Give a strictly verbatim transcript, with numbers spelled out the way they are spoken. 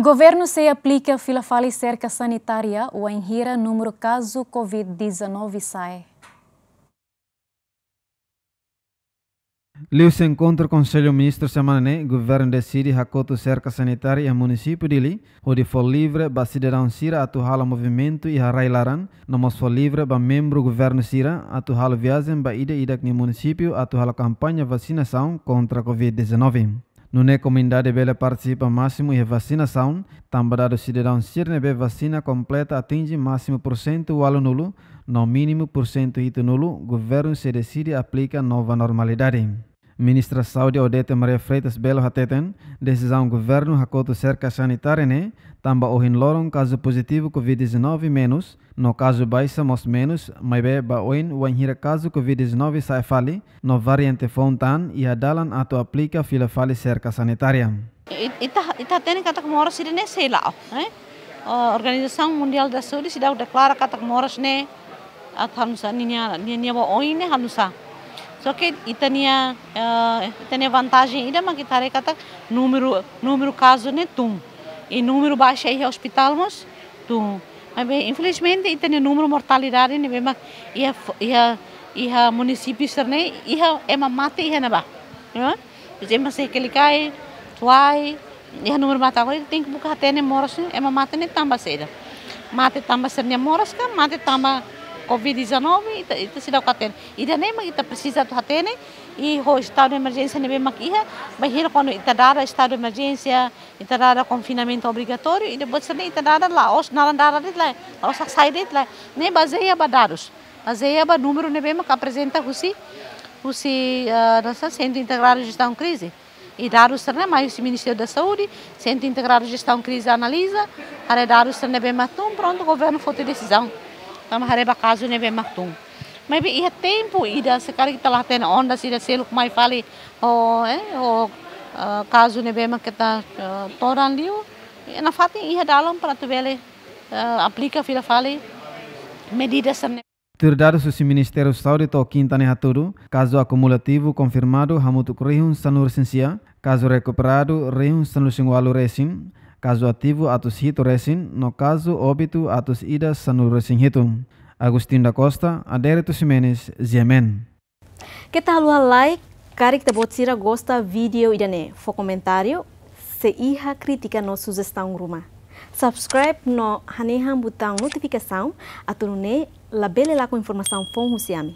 Governu sei aplika fila fali serka sanitária wainhira númeru kazu covid dezanove sa'e. Liuhusi enkontru Konsellu Ministru semana ne'e, governu deside hakotu serka sanitária iha munisípiu Dili, hodi fó livre ba sidadaun sira atu halo movimentu iha rai-laran, no mós fó livre ba membru governu sira atu halo viajen ba ida-idak nia munisípiu atu halo kampaña vasinasaun kontra covid dezanove. Nune'e komunidade bele partisipa másimu iha vasinasaun, tanba dadus sidadaun sira ne'ebé vasina kompleta atinje másimu pursentu ualunulu, no mínimu pursentu hitunulu, governu sei deside aplika nova normalidade. Ministra Saúde Odete Maria Freitas Belo hateten, desizaun governu hakotu serka sanitária ne'e, tanba ohin loron kazu pozitivu covid dezanove menus, no kazu baixa mós menus, maibé ba oin wainhira kazu covid dezanove sa'e fali, no variante foun tan, iha dalan atu aplika fila fali serka sanitária. It-, ita, ita hatene katak moras ida-ne'e sei la'o, eh? O, Organizasaun Mundiál da Saúde seidauk deklara katak moras ne'e, atu halo nu'usá, ninia, ninia ba oin ne'e halo nu'usá. Só ke ita-nia, eh, ita-nia vantajen ida mak ita haree katak númeru, númeru kazu ne'e tun. I númeru baixa iha ospitál mós tun. Maibé, infelizmente, ita-nia númeru mortalidade ne'ebé mak iha, iha, iha munisípiu sira-ne'e, iha ema mate iha ne'ebá. Ya? Ema sei kelikai, tuai, iha númeru mate agora, tenke buka hatene moras ne'e, ema mate ne'e tanba saida. Mate tanba sira-nia moras ka, mate tanba covid dezanove, ita, ita seidauk hatene. Ida-ne'e mak ita presiza atu hatene, i ho estadu de emerjénsia ne'ebé mak iha, bainhira kuandu ita dada estadu de emerjénsia, ita dada konfinamentu obrigatóriu, i depois sira-ne'e ita dada la'ós, naran dada de'it lae, la'ós sai de'it lae. Ne'e bazeia ba dadus. Bazeia ba númeru ne'ebé mak aprezenta husi, husi, ah, nossa Centro Integrado de Gestão Crise. I dadus sira-ne'e mai husi Ministériu da Saúde, Centro Integrado de Gestão Crise analiza, haree dadus sira ne'ebé mak tun, prontu, governu foti desizaun. Tanba haree ba kazu ne'ebé mak tun. Maibé iha tempu ida, se karik ita la hatene onda sira seluk mai fali, ho, eh, ho, ah, kazu ne'ebé mak keta, ah, todan liu, i nafatin iha dalan para atu bele, ah, aplika fila fali medida sira-ne'e. Tuir dadus husi Ministériu Saúde to'o kinta ne'e hatudu, kazu akumulativu konfirmadu hamutuk rihun sanulu-resin-sia, kazu rekuperadu rihun sanulu-resin-ualu resin, kazu ativu atus hitu resin, no kazu óbitu atus ida sanulu-resin-hitu. Agostinho da Costa, Adérito Ximenes, G M N. Keta haluha like, karik ita-boot sira gosta vídeo ida-ne'e, fó komentáriu, se iha krítika no sujestaun ruma. Subscribe no hanehan butaun notifikasaun, atu nune'e labele lakon informasaun foun husi ami.